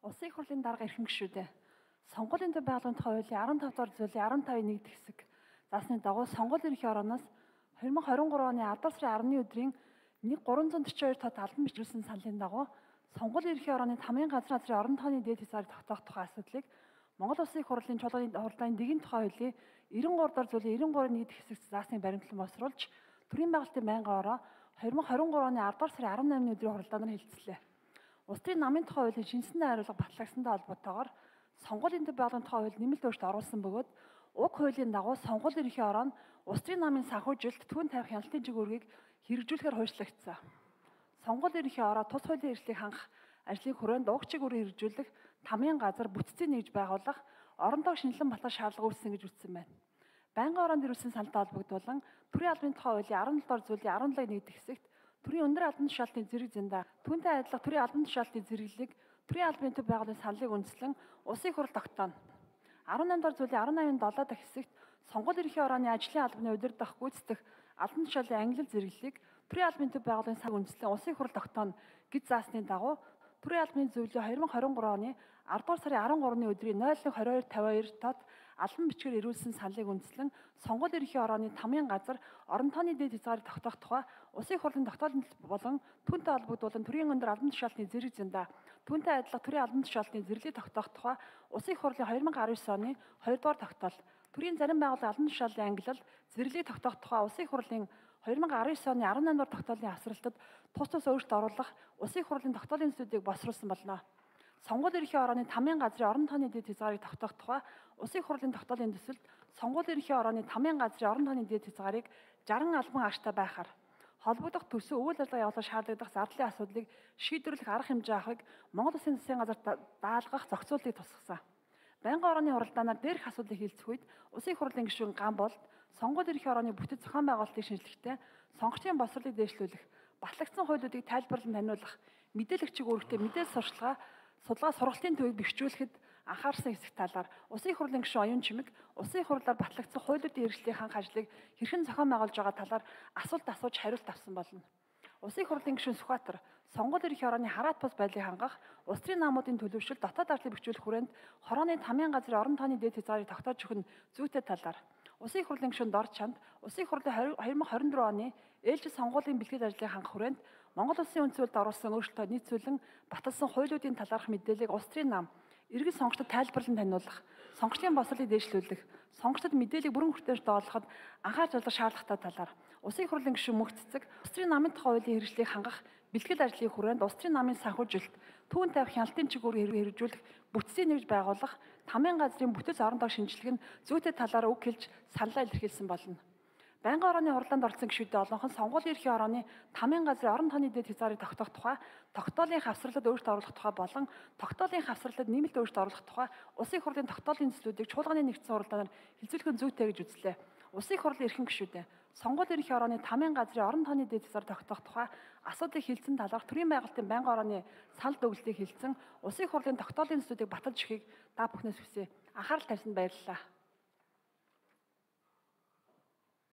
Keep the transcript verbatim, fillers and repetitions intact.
Улсын их хурлын дарга эрхэм гишүүдээ. Сонгуулийн төв байгууллагын хуулийн арван тав дугаар зүйлийн арван тавын нэг хэсэг заасны дагуу сонгуулийн ерхий орооноос две тысячи двадцать три оны алдар сарын арваны өдрийн нэг гуравзан төрч хоёр тод албан бичүүлсэн саналын дагуу сонгуулийн ерхий орооны тамгын газрын газрын орон тооны дээд хязгаарыг тогтоох тухай асуудлыг Монгол Улсын их хурлын чуулганы хурлын дэгийн тухай хуулийн девяносто дугаар зүйлийн девяносто гурван нэг хэсэг заасны баримтлан босруулж төрийн байгуулалтын байнгын ороо две тысячи двадцать три оны ардугаар сарын арван наймны өдрийн хуралдаанаар хэлэлцлээ. Улс төрийн намын тухай хуулийн шинжсэн хариулга батлагдсантай холбоотойгоор сонгуулийн төв байгууллагын тухай хууль нэмэлт өөрчлөлт оруулсан бөгөөд уг хуулийн дагуу сонгуулийн ерхий ороо нь улс төрийн намын санхүүжилт түүн тавих хяналтын жигүүргийг хэрэгжүүлэхээр хуульчлагдсан. Сонгуулийн ерхий ороо тус хуулийн хэрэгслийг хангах ажлыг хүрээнд уг чигүүрийг хэрэгжүүлэх тамгын газар бүтцийн нэгж байгуулах оронтой шинжилэн батлах шаардлага үүссэн гэж үзсэн байна. Байнгын ороонд ирүүлсэн саналтай холбогдуулан төрийн албаны тухай хуулийн арван долоо дугаар зүйлийн арван лагийн нэг хэсэгт төрийн өндөр албан тушаалтын зэрэг зэндаа түүнтэй адилах төрийн албан тушаалтын зэрэглэлийг төрийн албаны төв байгууллагын саналыг үндэслэн улсын их хурл тогтооно. арван наймдугаар зүйлийн арван наймын долоо дахь хэсэгт сонгуулийн ерхий орооны ажлын албаны удирдах, гүйцэтгэх албан тушаалын ангилал зэрэглэлийг төрийн албаны төв байгууллагын саналыг үндэслэн улсын их хурл тогтооно гэж заасны дагуу төрийн албаны зөвлөлийн две тысячи двадцать три оны ардугаар сарын арван гуравны өдрийн ноль нэг двадцать two тавиа хоёр тод албан бичгээр ирүүлсэн саналыг үндэслэн сонгуулийн ерхий орооны тамгын газар орон тооны дээд хязгаарыг тогтоох тухай улсын их хурлын тогтоолын болон түүнтэй холбогдуулан төрийн өндөр албан тушаалтын зэрэг зэндаа түүнтэй адилах төрийн албан тушаалтын зэрэглэлийг тогтоох тухай улсын их хурлын две тысячи десять оны хоёрдугаар тогтоол төрийн зарим байгууллагын албан тушаалын ангилал зэрэглэлийг тогтоох тухай улсын их хурлын две тысячи десять оны арван наймдугаар тогтоолын хавсралтад тус тус өөрчлөлт оруулах улсын их хурлын тогтоолын зүйлийг босруулсан болно. Сонгуулийн ерхий орооны тамгын газрын орон тооны дээд хязгаарыг тогтоох тухай улсын их хурлын тогтоолын төсөлд сонгуулийн ерхий орооны тамгын газрын орон тооны дээд хязгаарыг шестьдесят албан агштай байхаар холбогдох төсөв үйл ажиллагаа явуулах шаардлагадах зардлын асуудлыг шийдвэрлэх арга хэмжээ авахыг Монгол Улсын засгийн газар даалгах зохицуултыг тусгасан. Байнгын орооны хуралдаанаар дээрх асуудлыг хэлцэх үед улсын их хурлын гишүүн Ган болд сонгуулийн ерхий орооны бүтэц зохион байгуулалтыг шинжлэхдээ сонгогчдын боловсролыг дээшлүүлэх, батлагдсан хуулиудыг тайлбарлан таниулах, мэдээлэгчийг үүрэгтэй мэдээлэл сурчлагаа судалгаа сургалтын төвийг бэхжүүлэхэд анхаарсан хэсэг талаар улсын их хурлын гишүүн Оюун Чимэг улсын их хурлаар батлагдсан хуулиудын хэрэгслийг хангах ажлыг хэрхэн зохион байгуулж байгаа талаар асуулт асууж хариулт авсан болно. Улсын их хурлын гишүүн Сүхбаатар сонгуулийн ерхий орооны хараат бус байдлыг хангах, улс төрийн намуудын төлөвшил дотоод ардыг бэхжүүлэх хүрээнд хорооны тамгын газрын орон тооны дээд хязгаарыг тогтоож өгөх нь зүйтэй талаар улсын их хурлын гишүүн Дор Чанд улсын их хурлын две тысячи двадцать четыре оны ээлжид сонгуулийн бэлтгэл ажлыг хангах хүрээнд Монгол Улсын үнд цэвэрлэлд оруулсан өөрчлөлтөд нийцүүлэн баталсан хуулиудын талаарх мэдээллийг улс төрийн нам иргэн сонгогчдод тайлбарлан таниулах, сонгогчдын боловсролыг дээшлүүлэх, сонгогчдод мэдээллийг бүрэн хүртээнч доолгоход анхаарч ажиллах шаардлагатай талаар улсын их хурлын гишүүн Мөнх Цэцэг улс төрийн намын тухай хуулийн хэрэгслийг хангах бэлтгэл ажлын хүрээнд улс төрийн намын санхүүжилт, түүн тавих хяналтын чигүүрийг хэрэгжүүлэх, бүтцийн нэгж байгуулах, тамгын газрын бүтэц орон тоо шинжилгээ нь зүйтэй талаар үг хэлж саналаа илэрхийлсэн болно. Байнгын орооны хурлаанд оролцсон гишүүдээ олонх нь сонгуулийн ерхий орооны тамгын газрын орон тооны дээд хязгаарыг тогтоох тухай, тогтоолын хавсралд өөрчлөлт оруулах тухай болон тогтоолын хавсралд нэмэлт өөрчлөлт оруулах тухай улсын их хурлын тогтоолын төслүүдийг чуулганы нэгдсэн хурлаанаар хэлцүүлэх нь зүйтэй гэж үзлээ. Улсын их хурлын эрхэм гишүүдээ сонгуулийн ерхий орооны тамгын газрын орон тооны дээд хязгаар тогтоох тухай асуудлыг хэлсэн талаарх төрийн байгуулалтын байнгын орооны санал дүгнэлтийг хэлсэн улсын их хурлын тогтоолын төслүүдийг баталж өгөхийг та бүхнээс хүсье. Анхаарал тавьсанд баярлалаа.